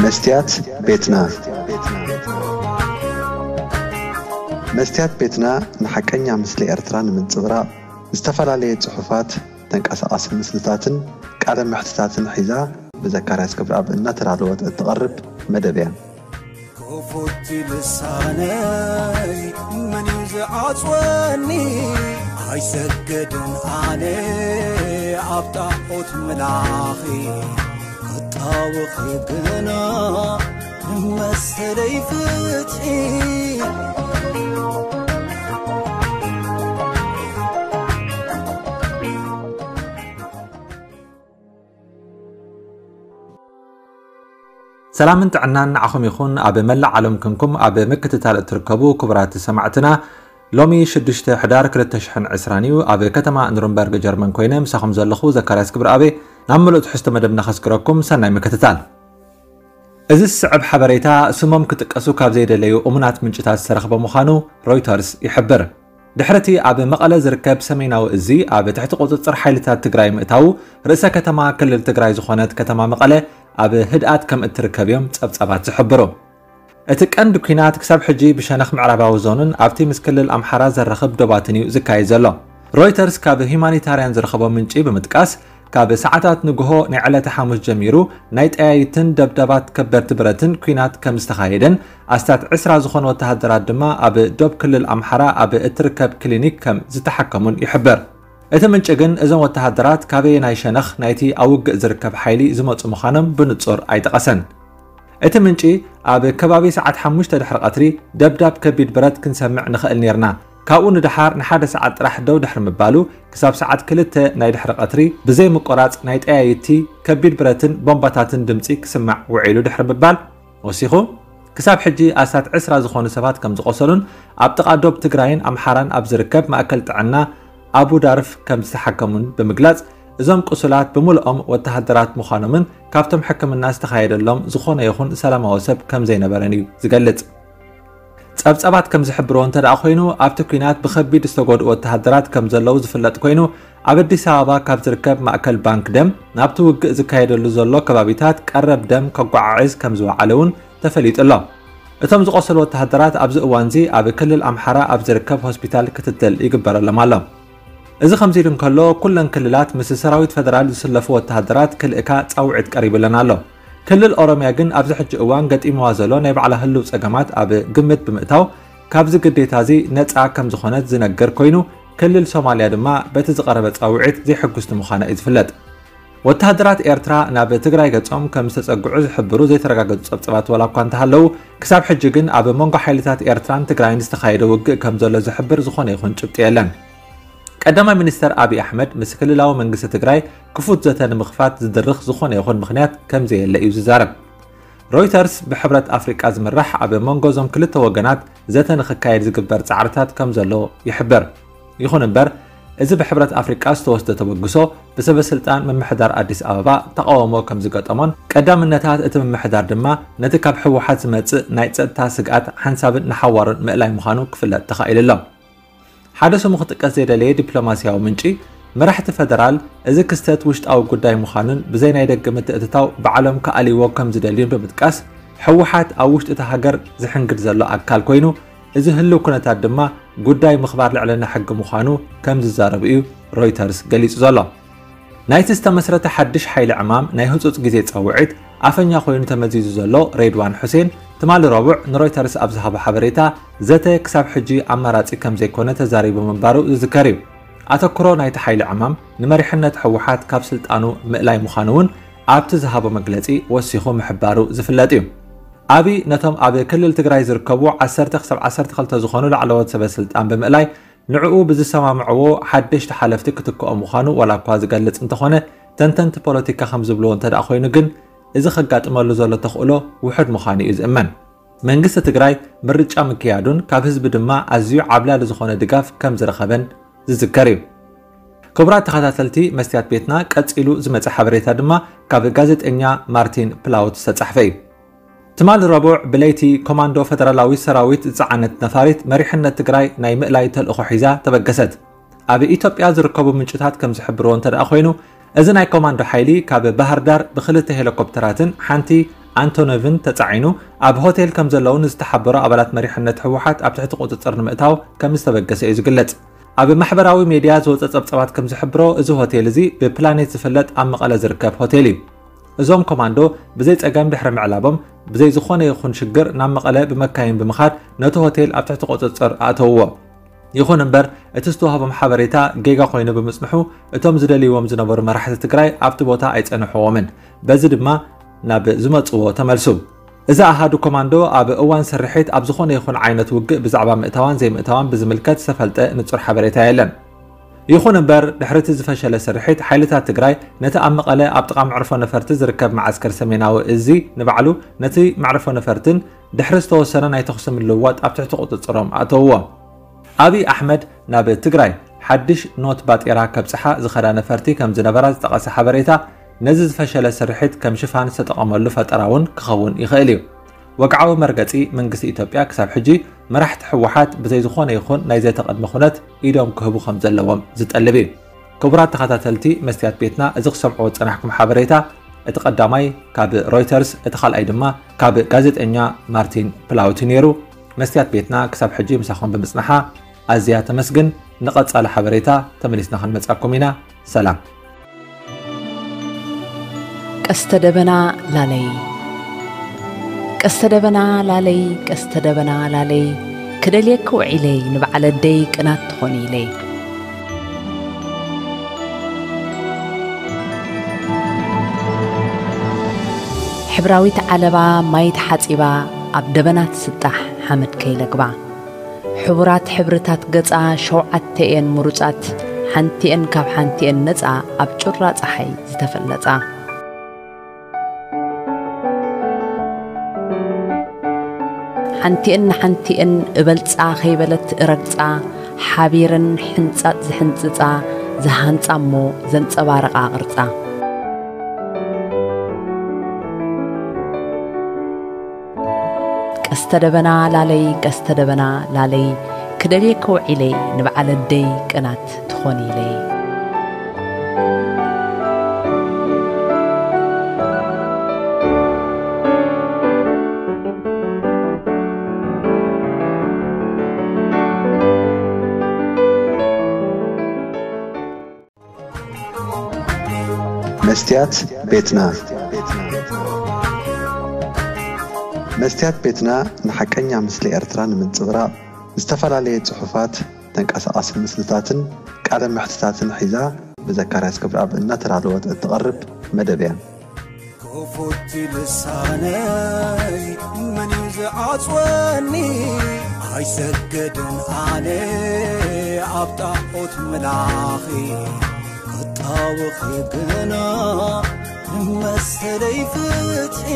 መስትያት ቤትና። መስትያት ቤትና ንሓቀኛ ምስሊ ኤርትራ ንምንጽብራቕ ዝተፈላለየ ጽሑፋት፣ ተንቀሳቓሲ ምስልታትን ቃለ መሕትታትን ሒዛ ብዘካርያስ ክብረኣብ እናተዳለወት እትቐርብ መደብ እያ። ክፉት ልሳነይ መን እዩ ዝዓጽወኒ? ኣይሰገድን ኣነ ኣብ ጣዖት ምላኺ፣ ክጣወኺ ግና ንመሰለይ ፍትሒ። ሰላምን ጥዕናን ንዓኹም ይኹን። ኣብ መላእ ዓለም ክንኩም ኣብ ምክትታል እትርከቡ ክቡራት ሰማዕትና፣ ሎሚ ሽዱሽተ ሕዳር ክልተ ሽሕን ዕስራን እዩ። ኣብ ከተማ ኑርንበርግ ጀርመን ኮይነ ምሳኹም ዘለኹ ዘካርያስ ክብረኣበ። ናብ ምሉእ ትሕዝቶ መደብና ከስግረኩም፣ ሰናይ ምክትታል። እዚ ዝስዕብ ሓበሬታ ስሞም ክጥቀሱ ካብ ዘይደለዩ እሙናት ምንጭታት ዝተረኽበ ምዃኑ ሮይተርስ ይሕብር። ድሕሪ እቲ ኣብ መቐለ ዝርከብ ሰሜናዊ እዚ ኣብ ትሕቲ ቁጽጽር ሓይልታት ትግራይ ምእታዉ፣ ርእሰ ከተማ ክልል ትግራይ ዝኾነት ከተማ መቐለ ኣብ ህድኣት ከም እትርከብ እዮም ጸብጻባት ዝሕብሩ። እቲ ቀንዲ ኲናት ክሳብ ሕጂ ብሸነኽ ምዕራባዊ ዞንን ኣብቲ ምስ ክልል ኣምሓራ ዘራኽብ ዶባትን እዩ ዝካየድ ዘሎ። ሮይተርስ ካብ ሂዩማኒታርያን ዝረኸቦ ምንጪ ብምጥቃስ፣ ካብ ሰዓታት ንግሆ ናይ ዕለተ ሓሙስ ጀሚሩ ናይ ጠያይትን ደብዳባት ከበድቲ ብረትን ኲናት ከም ዝተኻየደን ኣስታት ዕስራ ዝኾኑ ወተሃደራት ድማ ኣብ ዶብ ክልል ኣምሓራ ኣብ እትርከብ ክሊኒክ ከም ዝተሓከሙን ይሕብር። እቲ ምንጪ ግን እዞም ወተሃደራት ካበየናይ ሸነኽ ናይቲ ኣብ ውግእ ዝርከብ ሓይሊ ዝመጹ ምዃኖም ብንጹር ኣይጠቐሰን። እቲ ምንጪ ኣብ ከባቢ ሰዓት ሓሙሽተ ድሕሪ ቀትሪ ደብዳብ ከቢድ ብረት ክንሰምዕ ንኽእል ኔርና። ካብኡ ንደሓር ንሓደ ሰዓት ጥራሕ ደው ድሕሪ ምባሉ፣ ክሳብ ሰዓት ክልተ ናይ ድሕሪ ቀትሪ ብዘይ ምቁራጽ ናይ ጠያይቲ ከቢድ ብረትን ቦምባታትን ድምጺ ክስማዕ ውዒሉ ድሕሪ ምባል ወሲኹ፣ ክሳብ ሕጂ ኣስታት ዕስራ ዝኾኑ ሰባት ከም ዝቖሰሉን ኣብ ጥቓ ዶብ ትግራይን ኣምሓራን ኣብ ዝርከብ ማእከል ጥዕና ኣቡ ዳርፍ ከም ዝተሓከሙን ብምግላጽ፣ እዞም ቁሱላት ብምልኦም ወተሃደራት ምዃኖምን ካብቶም ሕክምና ዝተኻየደሎም ዝኾነ ይኹን ሰላማዊ ሰብ ከም ዘይነበረን እዩ ዝገልጽ። ጸብጻባት ከም ዝሕብርዎ እንተ ደኣ ኮይኑ፣ ኣብቲ ኲናት ብኸቢድ ዝተጎድኡ ወተሃደራት ከም ዘለዉ ዝፍለጥ ኮይኑ፣ ኣብ ኣዲስ ኣበባ ካብ ዝርከብ ማእከል ባንክ ደም ናብቲ ውግእ ዝካየደሉ ዘሎ ከባቢታት ቀረብ ደም ከጓዓዕዝ ከም ዝወዓለ እውን ተፈሊጡ ኣሎ። እቶም ዝቖሰሉ ወተሃደራት ኣብዚ እዋንዚ ኣብ ክልል ኣምሓራ ኣብ ዝርከብ ሆስፒታል ክትትል ይግበረሎም ኣሎ። እዚ ከምዚ ኢሉ እንከሎ፣ ኩለን ክልላት ምስ ሰራዊት ፈደራል ዝስለፉ ወተሃደራት ክልእካ ጻውዒት ቀሪቡለን ኣሎ። ክልል ኦሮምያ ግን ኣብዚ ሕጂ እዋን ገጢምዋ ዘሎ ናይ ባዕላ ህልው ጸገማት ኣብ ግምት ብምእታው፣ ካብዚ ግዴታ እዚ ነጻ ከም ዝኾነት ዝነገር ኮይኑ፣ ክልል ሶማልያ ድማ በቲ ዝቐረበ ጻውዒት ዘይሕጉስቲ ምዃና እዩ ዝፍለጥ። ወተሃደራት ኤርትራ ናብ ትግራይ ገጾም ከም ዝተጸግዑ ዝሕብሩ ዘይተረጋገጹ ጸብጻባት ዋላ እኳ እንተሃለዉ፣ ክሳብ ሕጂ ግን ኣብ መንጎ ሓይልታት ኤርትራን ትግራይን ዝተኻየደ ውግእ ከም ዘሎ ዝሕብር ዝኾነ ይኹን ጭብጢ የለን። ቀዳማይ ሚኒስተር ኣብይ ኣሕመድ ምስ ክልላዊ መንግስቲ ትግራይ ክፉት ዘተ ንምኽፋት ዝድርኽ ዝኾነ ይኹን ምኽንያት ከም ዘየለ እዩ ዝዛረብ። ሮይተርስ ብሕብረት ኣፍሪቃ ዝምራሕ ኣብ መንጎ እዞም ክልተ ወገናት ዘተ ንኽካየድ ዝግበር ጻዕርታት ከም ዘሎ ይሕብር። ይኹን እምበር፣ እዚ ብሕብረት ኣፍሪቃ ዝተወስደ ተበግሶ ብሰበ ስልጣን ምምሕዳር ኣዲስ ኣበባ ተቓውሞ ከም ዝገጠሞን፣ ቀዳምነታት እቲ ምምሕዳር ድማ ነቲ ካብ ህወሓት ዝመጽእ ናይ ጸጥታ ስግኣት ሓንሳብን ንሓዋሩን ምእላይ ምዃኑ ክፍለጥ ተኻኢሉ ኣሎ። ሓደ ስሙ ክጥቀስ ዘይደለየ ዲፕሎማስያዊ ምንጪ፣ መራሕቲ ፈደራል እዚ ክስተት ውሽጣዊ ጉዳይ ምዃኑን ብዘይ ናይ ደገ ምትእትታው ባዕሎም ክኣልይዎ ከም ዝደልዩን ብምጥቃስ፣ ህወሓት ኣብ ውሽጢ እታ ሃገር ዝሕንግድ ዘሎ ኣካል ኮይኑ፣ እዚ ህልው ኩነታት ድማ ጉዳይ ምኽባር ልዕልና ሕጊ ምዃኑ ከም ዝዛረቡ እዩ ሮይተርስ ገሊጹ ዘሎ። ናይቲ ዝተመስረተ ሓድሽ ሓይሊ ዕማም ናይ ህጹጽ ግዜ ጻውዒት ኣፈኛ ኮይኑ ተመዚዙ ዘሎ ሬድዋን ሑሴን፣ ትማሊ ረቡዕ ንሮይተርስ ኣብ ዝሃቦ ሓበሬታ፣ ዘተ ክሳብ ሕጂ ኣማራጺ ከም ዘይኮነ ተዛሪቡ ምንባሩ ዝዝከር እዩ። ኣተኩሮ ናይቲ ሓይሊ ዕማም ንመሪሕነት ህወሓት ካብ ስልጣኑ ምእላይ ምዃኑ እውን ኣብቲ ዝሃቦ መግለጺ ወሲኹ ምሕባሩ ዝፍለጥ እዩ። ኣብይ ነቶም ኣብ ክልል ትግራይ ዝርከቡ ዓሰርተ ክሳብ ዓሰርተ ክልተ ዝኾኑ ላዕለዎት ሰበ ስልጣን ብምእላይ፣ ንዕኡ ብዝሰማምዕዎ ሓደሽቲ ሓለፍቲ ክትክኦም ምዃኑ ዋላ እኳ ዝገልጽ እንተኾነ፣ ተንተንቲ ፖለቲካ ከም ዝብልዎ እንተ ደኣ ኮይኑ ግን፣ እዚ ከጋጥመሉ ዘሎ ተኽእሎ ውሑድ ምዃኑ እዩ ዝእመን። መንግስቲ ትግራይ ምርጫ ምክያዱን ካብ ህዝቢ ድማ ኣዝዩ ዓብላሊ ዝኾነ ድጋፍ ከም ዝረኸበን ዝዝከር እዩ። ክቡራት ተኸታተልቲ መስትያት ቤትና፣ ቀጺሉ ዝመጽእ ሓበሬታ ድማ ካብ ጋዜጠኛ ማርቲን ፕላውት ዝተጻሕፈ እዩ። ትማሊ ረቡዕ ብለይቲ ኮማንዶ ፈደራላዊ ሰራዊት ዝጸዓነት ነፋሪት መሪሕነት ትግራይ ናይ ምእላይ ተልእኾ ሒዛ ተበገሰት። ኣብ ኢትዮጵያ ዝርከቡ ምንጭታት ከም ዝሕብርዎ እንተ ደኣ ኮይኑ፣ እዚ ናይ ኮማንዶ ሓይሊ ካብ ባህር ዳር ብክልተ ሄሊኮፕተራትን ሓንቲ ኣንቶኖቭን ተጻዒኑ ኣብ ሆቴል ከም ዘለዉ ንዝተሓበሩ ኣባላት መሪሕነት ህወሓት ኣብ ትሕቲ ቁጽጽር ንምእታው ከም ዝተበገሰ እዩ ዝግለጽ። ኣብ ማሕበራዊ ሜድያ ዝወጸ ጸብጻባት ከም ዝሕብሮ፣ እዚ ሆቴል እዚ ብፕላኔት ዝፍለጥ ኣብ መቐለ ዝርከብ ሆቴል እዩ። እዞም ኮማንዶ ብዘይ ጸገም ድሕሪ ምዕላቦም፣ ብዘይ ዝኾነ ይኹን ሽግር ናብ መቐለ ብመካይን ብምኻድ ነቲ ሆቴል ኣብ ትሕቲ ቁጽጽር ኣእተውዎ። ይኹን እምበር፣ እቲ ዝተዋህቦም ሓበሬታ ጌጋ ኮይኑ ብምጽንሑ፣ እቶም ዝደልይዎም ዝነበሩ መራሕቲ ትግራይ ኣብቲ ቦታ ኣይጸንሕዎምን። በዚ ድማ ናብ ዝመጽዎ ተመልሱ። እዚ ኣሃዱ ኮማንዶ ኣብ እዋን ስርሒት ኣብ ዝኾነ ይኹን ዓይነት ውግእ ብዛዕባ ምእታዋን ዘይምእታዋን ብዝምልከት ዝተፈልጠ ንጹር ሓበሬታ የለን። ይኹን እምበር፣ ድሕሪ እቲ ዝፈሸለ ስርሒት፣ ሓይልታት ትግራይ ነቲ ኣብ መቐለ ኣብ ጥቓ መዕርፎ ነፈርቲ ዝርከብ መዓስከር ሰሜናዊ እዚ ንባዕሉ ነቲ መዕርፎ ነፈርትን ድሕሪ ዝተወሰነ ናይ ተኹሲ ምልውዋጥ ኣብ ትሕቲ ቁጽጽሮም ኣእተውዎ። ኣብይ ኣሕመድ ናብ ትግራይ ሓድሽ ኖት ባጤራ ከብጽሓ ዝኸዳ ነፈርቲ ከም ዝነበራ ዝጠቐሰ ሓበሬታ፣ ነዚ ዝፈሸለ ስርሒት ከም ሽፋን ዝተጠቐመሉ ፈጠራ እውን ክኸውን ይኽእል እዩ። ወግዓዊ መርገጺ መንግስቲ ኢትዮጵያ ክሳብ ሕጂ መራሕቲ ህወሓት ብዘይ ዝኾነ ይኹን ናይ ዘተ ቅድመ ኩነት ኢዶም ክህቡ ከም ዘለዎም ዝጠልብ እዩ። ክቡራት ተኸታተልቲ መስትያት ቤትና፣ እዚ ክሰምዕዎ ዝጸናሕኩም ሓበሬታ፣ እቲ ቀዳማይ ካብ ሮይተርስ፣ እቲ ካልኣይ ድማ ካብ ጋዜጠኛ ማርቲን ፕላውት ነይሩ። መስትያት ቤትና ክሳብ ሕጂ ምሳኹም ብምጽናሓ ኣዝያ ተመስግን። ንቐጻሊ ሓበሬታ ተመሊስና ክንመጻኩም ኢና። ሰላም። ቀስተ ደበና ላለይ፣ ቀስተ ደበና ላለይ፣ ቀስተ ደበና ላለይ፣ ክደልየኪ ውዒለይ፣ ንበዓል ኣደይ ቅናት ትኾኒ ኢለይ። ሕብራዊት ዓለባ ማይ ተሓጺባ፣ ኣብ ደበና ትስጣሕ ሓመድ ከይለግባ። ሕቡራት ሕብርታት ገጻ ሸውዓተ እየን ምሩጻት፣ ሓንቲአን ካብ ሓንቲአን ነጻ፣ ኣብ ጩራ ጸሓይ ዝተፈለጻ። ሓንቲአን ንሓንቲአን እበልጻ ከይበለት እረግጻ፣ ሓቢረን ሕንጻጽ ዝሕንጽጻ፣ ዝሃንጻ እሞ ዘንጸባርቓ ቅርጻ። ቀስተ ደበና ላለይ፣ ቀስተ ደበና ላለይ፣ ክደልየኪ ውዒለይ፣ ንበዓል ኣደይ ቅናት ትኾኒ ኢለይ። መስትያት ቤትና። መስትያት ቤትና ንሓቀኛ ምስሊ ኤርትራ ንምንጽብራቕ፣ ዝተፈላለየ ጽሑፋት፣ ተንቀሳቓሲ ምስልታትን ቃለ መሕትታትን ሒዛ ብዘካርያስ ገብረኣብ እናተዳለወት እትቐርብ መደብ እያ። ክፉት ልሳነይ መን እዩ ዝዓጽወኒ? ኣይሰግድን ኣነ ኣብ ጣዖት ምላኺ፣ ክጣወኺ ግና ንመሰለይ ፍትሒ።